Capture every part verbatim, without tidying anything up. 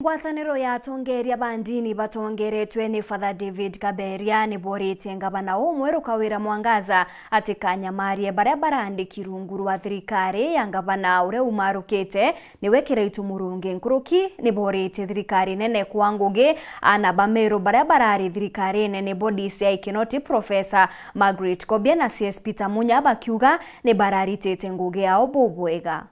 Ngwataniro ya atongeria ba ndini batongeretwe ni Father David Kaberia ni boritie ngavana umweru Kawira Mwangaza atikanyamarie baria barandiki rungu rwa thirikari ya ngavana uria umarukite niwe Kiraitu Murungi. Nkuruki ni boritie thirikari nene kwa ngugi ana ba Meru baria barari thirikarine nibo D C I Kinoti Professor Margaret Kobia na C S Peter Munya bakiuga ni bararitite ngugi yao bubwega.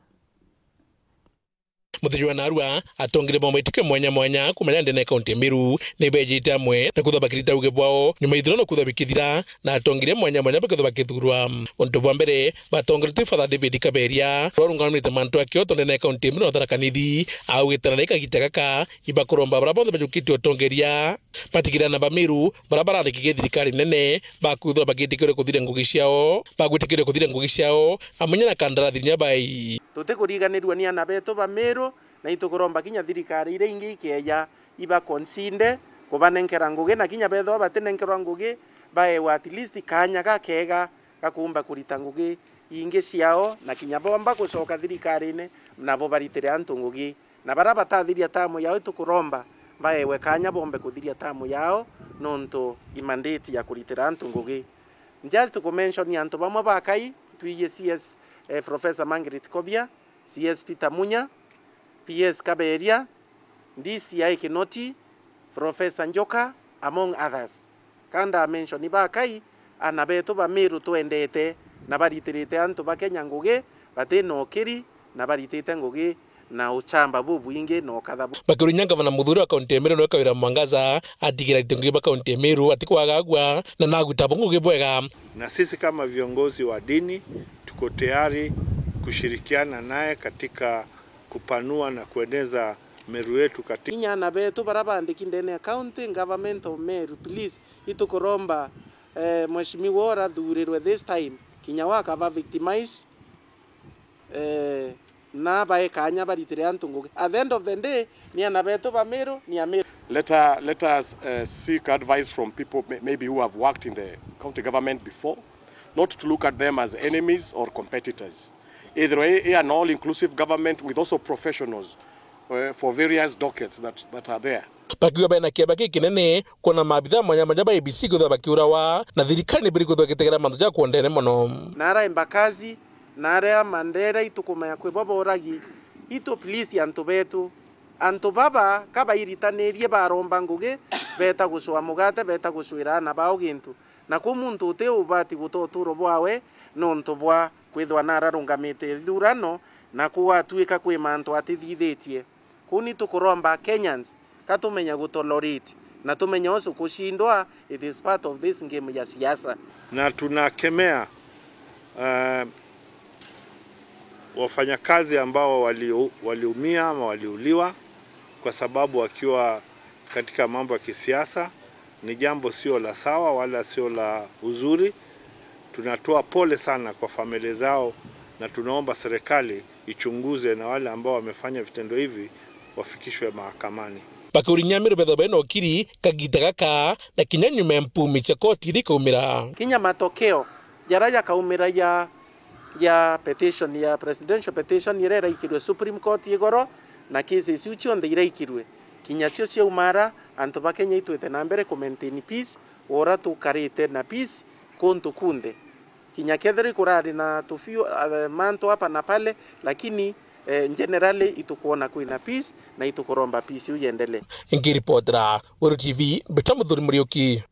Muthenya wa narua, atongeria ba maitikio mwanya mwanya kuuma ya ndene ya kaunti ya Meru ni bejite amwe na kwithwa bakirita uge bwao nyuma ithurano kwithwa bikithira na atongeria mwanya mwanya bakithwa bakithurwa. Untu bwa mbere, batongeretwe Father David Kaberia, uria urungamirite mantu akio tontu ndene ya kaunti ya Meru na Tharaka Nithi, augite na kagita gaka ibakuromba baria bonthe bajukitie utongeria batigirana ba Meru baria bararikirie thirikari nene bakwithirwa bagitikiria kuthiria ngugi ciao, bagwitikiria kuthiria ngugi ciao amwe na kandarathi inya bai. Tutikuriganirua ni ana betu ba Meru, na itukuromba kinya thirikari iria ingi ikeeja iba consider kubanenkera ngugi, na kinya bethirwa batinenkerwa ngugi, baewa at least kaanya gakega ga kuumba kurita ngugi ingi ciao, na kinya boomba gucoka thirikarine nabo baritire antu ngugi. Na baria batathiria tamu yao, itukuromba baewe kaanya boombe kuthiria tamu yao nontu i mandate ya kuritira antu ngugi. Just ku mention antu bamwe bakai, twiji C S, eh, Professor Margaret Kobia, C S Peter Munya, P S Kaberia, D C I Kinoti, Professor Njoka, among others. Ka ndamention bakai, ana betu ba Meru twendete na baritirite antu ba Kenya ngugi, batina ukiri na baritite ngugi na uchamba bubwingi na ukatha bu- Bakirinya ngavana muthuri wa kaunti ya Meru niwe Kawira Mwangaza atigira aritite ngugi ba kaunti ya Meru atikwagagua na naguta bo ngugi bwega. Na sisi kama viongozi wa dini tuko tayari kushirikiana naye katika kupanua na kueneza Meru yetu katika. Kinya ana betu baria bandiki ndene ya county government of Meru, please, itukuromba, eh, mheshimiwa urathurirwe this time, kinya wakaba victimize, eh, na bae kaanya baritire antu ngugi. At the end of the day, ni ana betu ba Meru, ni a Meru. Let, uh, let us, uh, seek advice from people may-, maybe who have worked in the county government before, not to look at them as enemies or competitors. Ithirwa i, i an all-inclusive government with also professionals, uh, for various dockets that, that are there. Bakiuga bena kieba gikinene kuona maabitha mwanya mwanya ba A B C kwithwa bakiurawa na thirikari nibiri kwithwa igitegera mantu ja kuondene mono. Na ara embakazi, na aria mandera itukumaya kwi bo boragi, itu please antu betu. Antu baba ka bairitanirie baromba ngugi, beta gucua mugate, beta gucuira ana bao gintu. Na kwi muntu uti ubati guta uturo bwawe nontu bwa kwithwa nararungamite ithurano, na kugatuika kwi mantu atithithitie. Kuu ni tukuromba Kenyans, ka tumenya gutolerate, na tumenya ucu kucindwa, it is part of this game ya siasa. Na tunakemea, eh, wafanyakazi ambao wali-, waliumia ama waliuliwa kwa sababu wakiwa katika mambo ya kisiasa. Ni jambo sio la sawa wala sio la uzuri. Tunatoa pole sana kwa familia zao na tunaomba serikali ichunguze na wale ambao wamefanya vitendo hivi wafikishwe mahakamani. Bakurinya Meru bethwa bena ukiri kagita gaka na kinya nyuma ya mpumi cia koti iria ikaumira. Kinya matokeo jaria jakaumira ja, ja petition, ya presidential petition iria iraikirwe Supreme Court igoro, na cases iu cionthe iraikirwe, kinya cio ciaumara, antu ba Kenya itwite na mbere ku maintain peace, ura tukarite na peace kuntu kunthe. Kinya kethira ikurari na tufiu, eh, mantu hapa na pale, lakini, eh, generally itukwona kwina peace na itukuromba peace iu yendelee. Ngiripotera Weru T V, Mbita Muthuri Muriuki.